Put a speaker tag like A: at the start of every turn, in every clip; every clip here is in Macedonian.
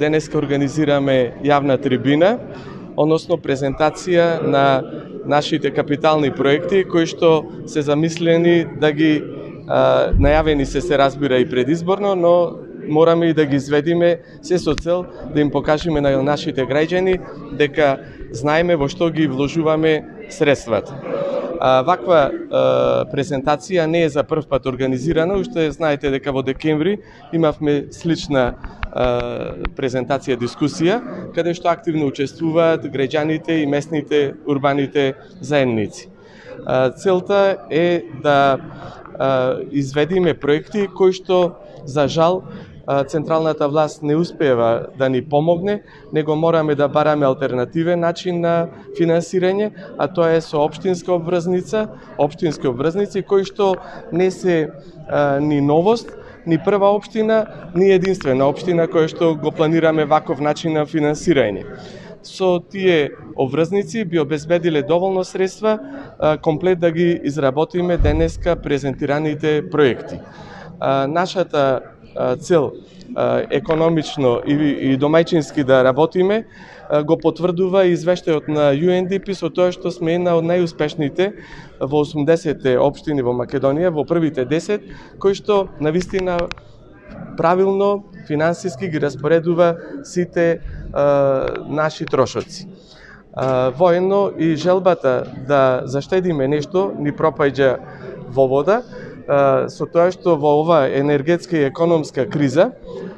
A: Денеска организираме јавна трибина, односно презентација на нашите капитални проекти кои што се замислени да ги најавени се разбира и предизборно, но мораме и да ги изведиме се со цел да им покажеме на нашите граѓани дека знаеме во што ги вложуваме средствата. Ваква презентација не е за прв пат организирана, уште знаете дека во декември имавме слична презентација, дискусија, каде што активно учествуваат граѓаните и местните урбаните заедници. Целта е да изведиме проекти кои што, за жал, централната власт не успева да ни помогне, него мораме да бараме алтернативен начин на финансирање, а тоа е со општински обврзници кои што не се ни новост, ни прва општина, ни единствена општина која што го планираме ваков начин на финансирање. Со тие обврзници би обезбедиле доволно средства комплет да ги изработиме денеска презентираните проекти. Нашата цел економично и домаќински да работиме го потврдува извештајот на UNDP со тоа што сме една од најуспешните во 80-те општини во Македонија, во првите 10, кои што навистина правилно финансиски ги распоредува сите наши трошоци. Воедно и желбата да заштедиме нешто ни пропаѓа во вода, со тоа што во ова енергетска и економска криза,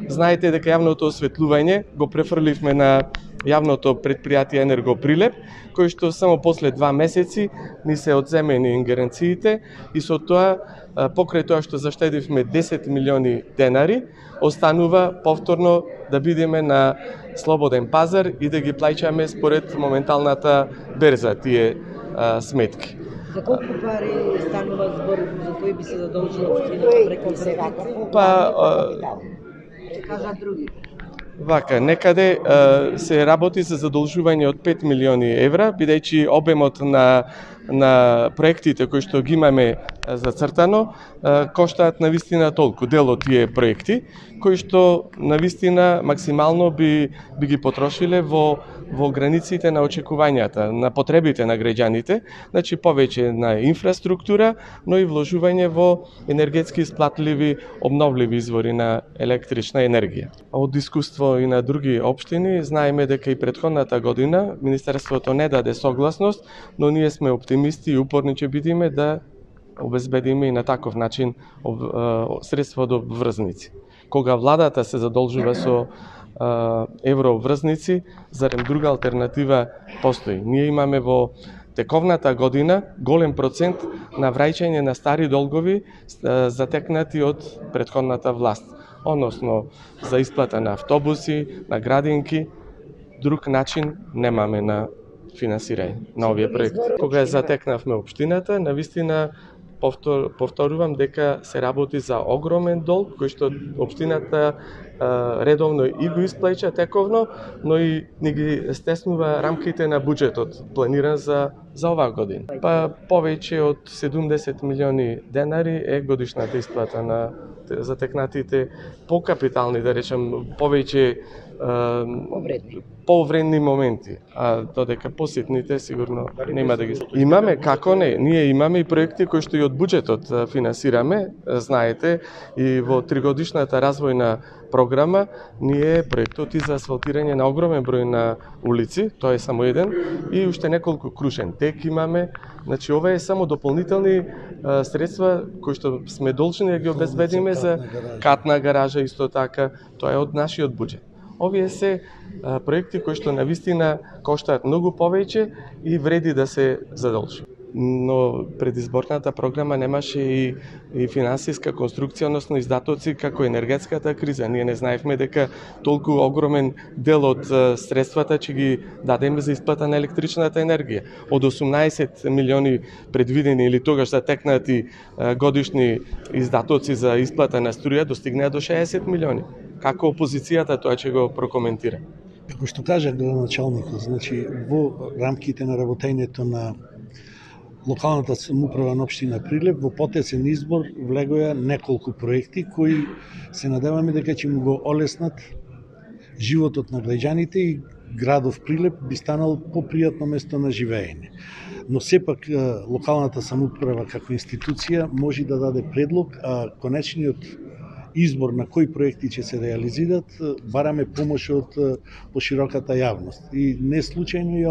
A: знаете дека јавното осветлување го префрливме на јавното предпријатие Енергоприлеп, кој што само после 2 месеци ни се одземени ингеренциите и со тоа, покрај тоа што заштедивме 10 милиони денари, останува повторно да бидеме на слободен пазар и да ги плаќаме според моменталната берза тие сметки.
B: За колку пари станува збор, за кои би се задолжила општината преку кредити? Кажат други.
A: Вака, некаде се работи за задолжување од 5 милиони евра, бидејќи обемот на проектите кои што ги имаме зацртано, коштаат навистина толку дел од тие проекти, кои што навистина максимално би ги потрошиле во границите на очекувањата, на потребите на граѓаните, значи повеќе на инфраструктура, но и вложување во енергетски исплатливи, обновливи извори на електрична енергија. Од искуство и на други општини, знаеме дека и претходната година Министерството не даде согласност, но ние сме оптимисти и упорни ќе бидеме да обезбедиме и на таков начин средства од обврзници. Кога владата се задолжува со еврообврзници, зарем друга алтернатива постои. Ние имаме во тековната година голем процент на враќање на стари долгови затекнати од претходната власт, односно за исплата на автобуси, на градинки, друг начин немаме на финансирање на овие проекти. Кога ја затекнавме општината, навистина повторувам дека се работи за огромен долг кој што општината редовно и го исплаќа тековно, но и ни ги стеснува рамките на буџетот планиран за оваа година. Па повеќе од 70 милиони денари е годишната исплата на затекнатите покапитални, да речем, повеќе повредни моменти, а додека поситните сигурно нема да ги. Имаме, како не, ние имаме и проекти кои што и од буџетот финансираме, знаете, и во 3-годишната развојна програма ние проектот и за асфалтирање на огромен број на улици, тоа е само еден, и уште неколку крушен тек имаме. Значи ова е само дополнителни средства кои што сме должни да ги обезбедиме за катна гаража исто така, тоа е од нашиот буџет. Овие се проекти кои што навистина коштаат многу повеќе и вреди да се задолжи. Но предизборната програма немаше и финансиска конструкција, односно издатоци како енергетската криза. Ние не знаевме дека толку огромен дел од средствата ќе ги дадеме за исплата на електричната енергија. Од 18 милиони предвидени или тогаш затекнати годишни издатоци за исплата на струја достигнаа до 60 милиони. Како опозицијата тоа ќе го прокоментира?
C: Како што кажа градоначалникот, значи во рамките на работењето на локалната самоуправа на општина Прилеп во потецен избор влегоја неколку проекти кои се надеваме дека ќе му го олеснат животот на граѓаните и градов Прилеп би станал попријатно место на живеење. Но сепак локалната самоуправа како институција може да даде предлог, а конечниот избор на кои проекти ќе се реализират бараме помош од пошироката јавност. И не случајно и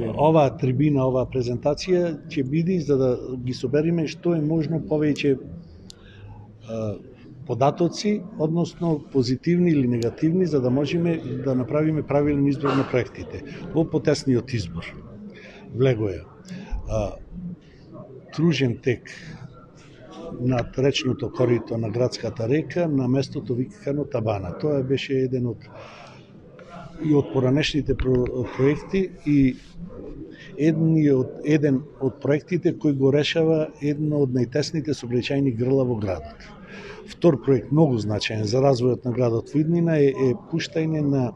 C: ова трибина, оваа презентација ќе биде за да ги собериме што е можно повеќе податоци, односно позитивни или негативни, за да можеме да направиме правилен избор на проектите. Во потесниот избор влегоја кружен тек над речното корито на градската река на местото викано Табана. Тоа беше еден од поранешните проекти и еден од проектите кој го решава едно од најтесните сообраќајни грла во градот. Втор проект многу значаен за развојот на градот во иднина е пуштање на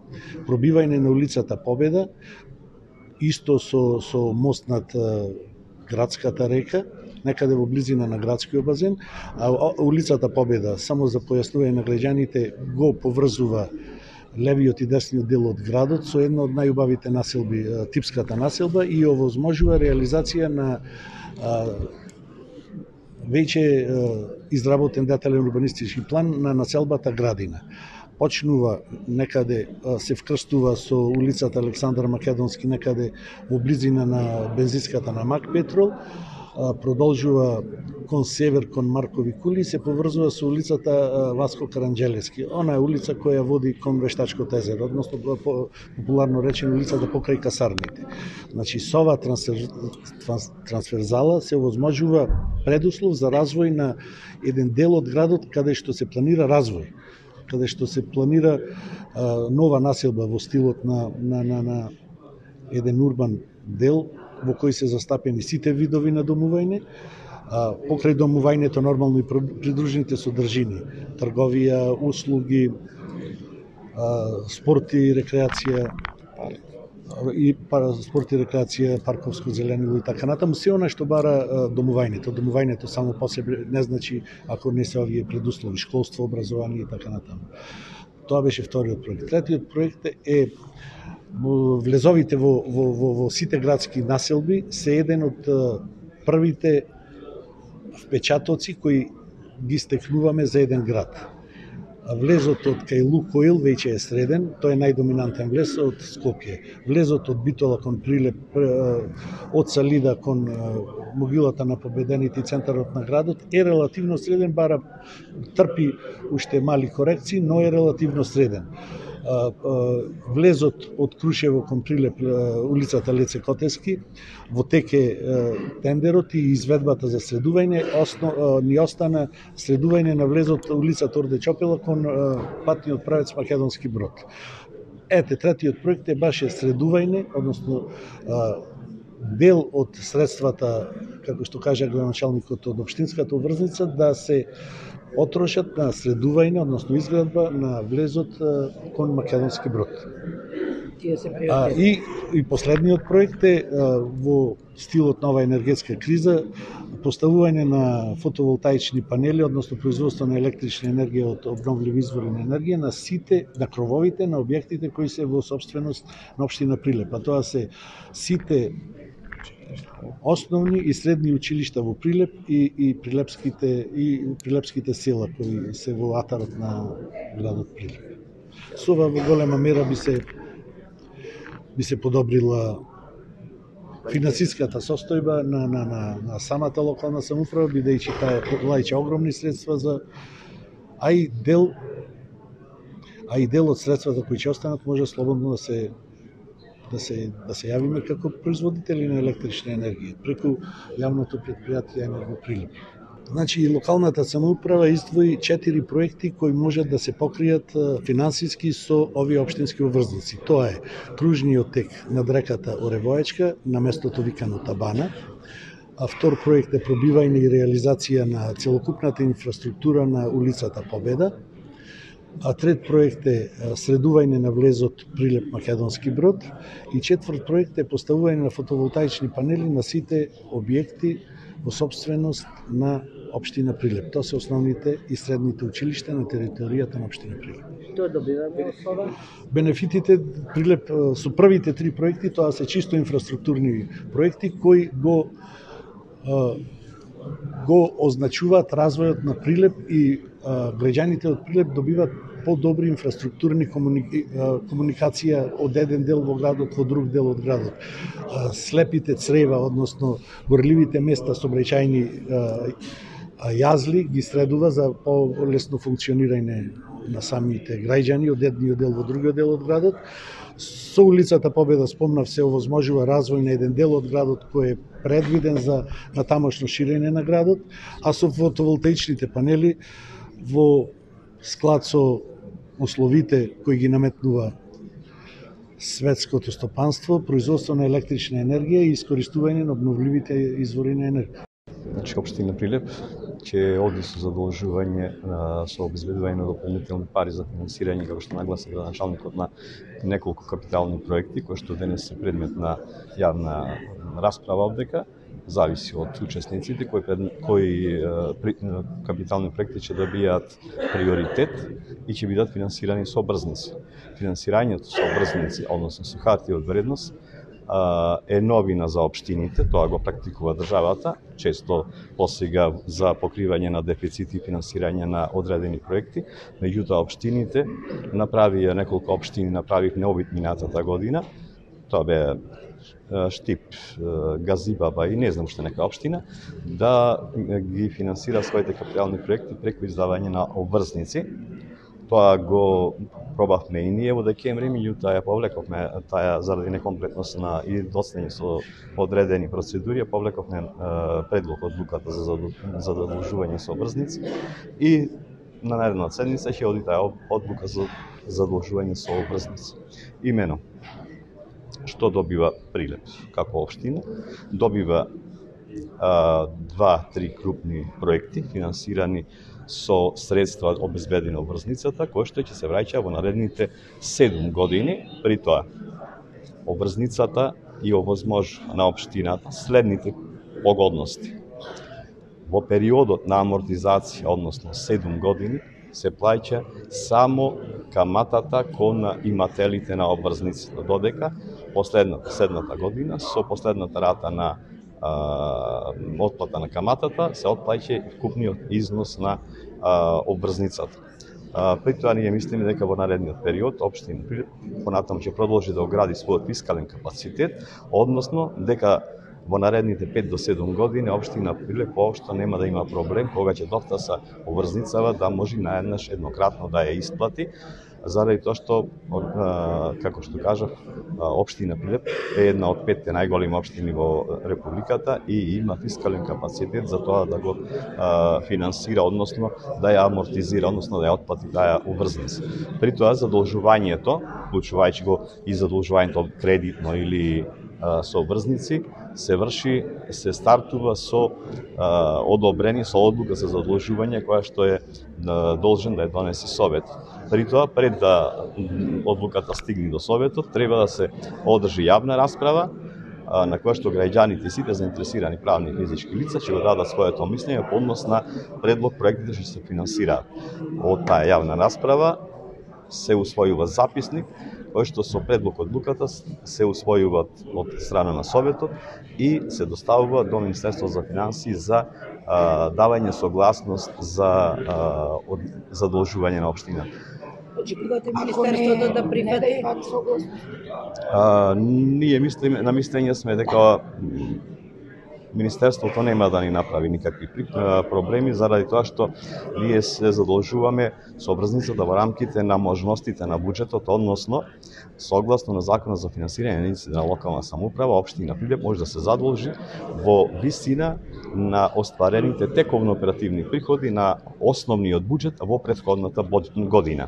C: пробивање на улицата Победа, исто со мост над градската река, некаде во близина на градскиот базен, а улицата Победа, само за појаснување на граѓаните, го поврзува левиот и десниот дел од градот со една од најубавите населби, типската населба, и овозможува реализација на веќе изработен детален урбанистички план на населбата Градина. Почнува некаде, се вкрстува со улицата Александар Македонски некаде во близина на бензинската на Мак Петрол, продолжува кон север, кон Маркови кули, се поврзува со улицата Васко Каранџелевски. Она е улица која води кон Вештачкото езеро, односно популарно речено улицата покрај касарните. Значи, со ова трансферзала се овозможува предуслов за развој на еден дел од градот каде што се планира развој, каде што се планира нова населба во стилот на еден урбан дел во кој се застапени сите видови на домување, покрај домувањето нормално и придружните содржини, трговија, услуги, спорт и рекреација, парковско зеленило и така натаму, се она што бара домувањето. Домувањето само по себе не значи ако не се овие предуслови, школство, образование и така натаму. Тоа беше вториот проект. Третиот проект е влезовите во сите градски населби се еден од првите впечатоци кои ги стекнуваме за еден град. Влезот од кај Лукоил веќе е среден, тој е најдоминантен влез од Скопје. Влезот од Битола кон Прилеп, од Салида кон могилата на победените и центарот на градот е релативно среден, бара трпи уште мали корекции, но е релативно среден. Влезот од Крушево кон Прилеп, улицата Леце Котески, во тек е тендерот и изведбата за средување, ни остана средување на влезот улицата Орде Чопела кон патниот правец Македонски Брод. Ете, третиот проект е баш средување, односно дел од средствата, како што кажа градоначалникот од општинската обврзница, да се потрошат на средување, односно изградба на влезот кон Македонски Брод. И последниот проект е во стилот на оваа енергетска криза, поставување на фотоволтаични панели, односно производство на електрична енергија од обновливи извори на енергија на крововите на објектите кои се во собственост на општина Прилеп. Тоа се сите основни и средни училишта во Прилеп и прилепските села кои се во атарот на градот Прилеп. Со ова во голема мера би се подобрила финансиската состојба на самата локална самоуправа, бидејќи таа плаќа огромни средства а и дел од средствата кои ќе останат може слободно да се јавиме како производители на електрична енергија преку јавното претпријатие Енергоприлеп. Значи, локалната самоуправа издвои 4 проекти кои можат да се покријат финансиски со овие општински обврзници. Тоа е кружниот тек над реката Оревоечка на местото викано Табана. А втор проект е пробивање и реализација на целокупната инфраструктура на улицата Победа. а трет проект е средување на влезот Прилеп Македонски Брод и четврт проект е поставување на фотоволтаични панели на сите објекти во собственост на општина Прилеп. Тоа се основните и средните училишта на територијата на општина Прилеп.
B: Што добиваме од ова?
C: Бенефитите Прилеп со првите три проекти, тоа се чисто инфраструктурни проекти кои го означуваат развојот на Прилеп и граѓаните од Прилеп добиваат подобри инфраструктурни комуникација од еден дел во градот во друг дел од градот. Слепите црева, односно горливите места сообраќајни јазли ги средува за полесно функционирање на самите граѓани од едниот дел во другиот дел од градот. Со улицата Победа, спомнав, се овозможува развој на еден дел од градот кој е предвиден за натамошно ширење на градот, а со фотоволтаичните панели во склад со условите кои ги наметнува светското стопанство, производство на електрична енергија и искористување на обновливите извори на енергија.
D: Значи, општина Прилеп ќе оди со задолжување со обезбедување на дополнителни пари за финансирање, како што нагласи градоначалникот, на неколку капитални проекти кои што денес се предмет на јавна расправа одека. Зависи од учесниците кои капитални проекти ќе добијат приоритет и ќе бидат финансирани со обврзници. Финансирањето со обврзници, односно со хартија од вредност, е новина за општините, тоа го практикува државата, често посега за покривање на дефицити и финансирање на одредени проекти, меѓутоа општините направија, неколку општини направив необит минатата година, тоа бе Штип, Газибаба и не знам што нека општина, да ги финансира своите капитални проекти преку издавање на обврзници. Тоа го пробавме и ние во декември, меѓутоа ја повлековме таа заради некомплетност на и доцнење со одредени процедури, ја повлековме предлог одлуката за задолжување со обврзници и на наредната седница ќе оди таа одлука за задолжување со обврзници. Имено, што добива Прилеп како општина? Добива 2-3 крупни проекти финансирани со средства обезбедени од обврзницата, кои што ќе се враќа во наредните 7 години. При тоа, обврзницата и овозможува на општината следните погодности. Во периодот на амортизација, односно 7 години, се плаќа само каматата кон имателите на обврзниците, додека следната година со последната рата на отплата на каматата се отплаќа вкупниот износ на обврзницата. При тоа ние мислиме дека во наредниот период општина Прилеп понатаму ќе продолжи да огради својот фискален капацитет, односно дека во наредните 5 до 7 години општина Прилеп воопшто нема да има проблем кога ќе дофтаса обврзницава да може наеднаш еднократно да ја исплати, заради тоа што, како што кажав, општина Прилеп е една од 5 најголеми општини во републиката и има фискален капацитет за тоа да го финансира, односно да ја амортизира, односно да ја отплати таа обврзница. При тоа задолжувањето, вклучувајќи го и задолжувањето кредитно или со обврзници, се стартува со одобрение, со одлука за задолжување која што е должен да ја донесе Совет. При тоа, пред да одлуката стигне до Советот, треба да се одржи јавна расправа на која што граѓаните и сите заинтересирани правни и физички лица ќе го дадат своето мислење по однос на предлог проектите што се финансираат. Од таа јавна расправа се усвојува записник кој што со предлог одлуката се усвојува од страна на Советот и се доставува до Министерство за финансии за давање согласност за задолжување на општината.
B: Очекувате Министерството да прифати?
D: Ние мислиме, на мислење сме дека Министерството нема да ни направи никакви проблеми, заради тоа што ние се задолжуваме со обврзницата во рамките на можностите на буџетот, односно, согласно на Законот за финансирање на единиците на локална самоуправа, општина Прилеп може да се задолжи во висина на остварените тековно оперативни приходи на основниот буџет во претходната година.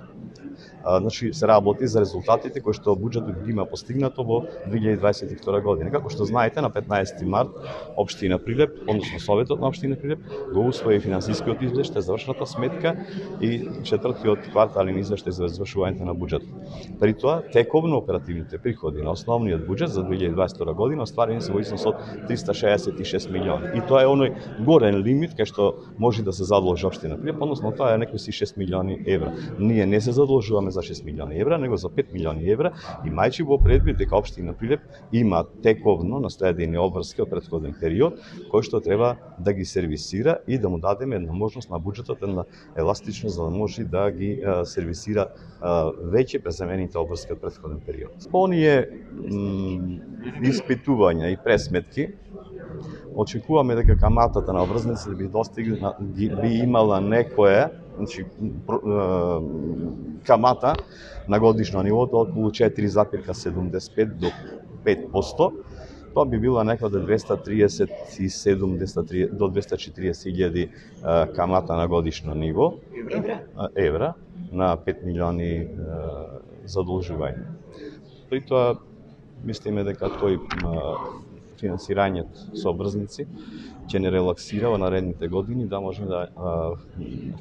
D: Значи се работи за резултатите кои што буџетот ги има постигнато во 2022 година. Како што знаете, на 15 март општина Прилеп, односно Советот на општина Прилеп, го усвои финансискиот извештај, завршната сметка и четвртиот квартален извештај за извршувањето на буџетот. При тоа, тековно оперативните приходи на основниот буџет за 2022 година остварени се во износ од 366 милиони. И тоа е оној горен лимит кај што може да се задолжи општина Прилеп, односно тоа е некои 6 милиони евра. Ние не се задолжуваме за 6 милиони евра, него за 5 милиони евра, имајќи во предвид дека општина Прилеп има тековно наследени обврски од претходен период, кој што треба да ги сервисира и да му дадеме една можност на буџетот, една еластичност за да може да ги сервисира веќе преземените обврски од претходен период. Оние испитувања и пресметки очекуваме дека каматата на обврзниците би имала некоја, значи камата на годишно ниво од околу 4,75 до 5%. Тоа би била некаде 237 до 240 илјади камата на годишно ниво евра на 5 милиони задолжување. При тоа мислиме дека тој финансирањето со обврзници ќе не релаксира во наредните години да можеме да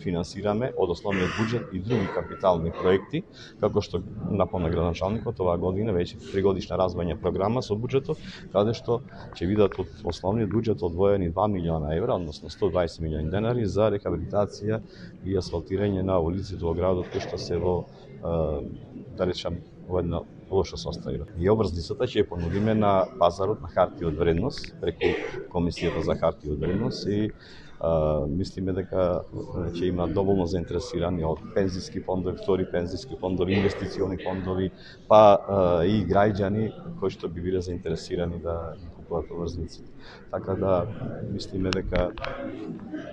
D: финансираме од основниот буџет и други капитални проекти, како што напомна градоначалникот, оваа година веќе тригодишна развојна програма со буџетот, каде што ќе бидат од основниот буџет одвоени 2 милиона евра, односно 120 милиони денари за рехабилитација и асфалтирање на улиците во градот кои што се во, да речам, во една лошо состојба. И обврзницата ќе ја понудиме на пазарот на хартија од вредност преку Комисијата за хартија од вредност и мислиме дека ќе има доволно заинтересирани од пензиски фондови, втори пензиски фондови, инвестициони фондови, па и граѓани кои што би биле заинтересирани да купуваат обврзниците. Така да мислиме дека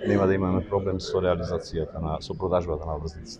D: нема да имаме проблем со реализацијата со продажбата на обврзниците.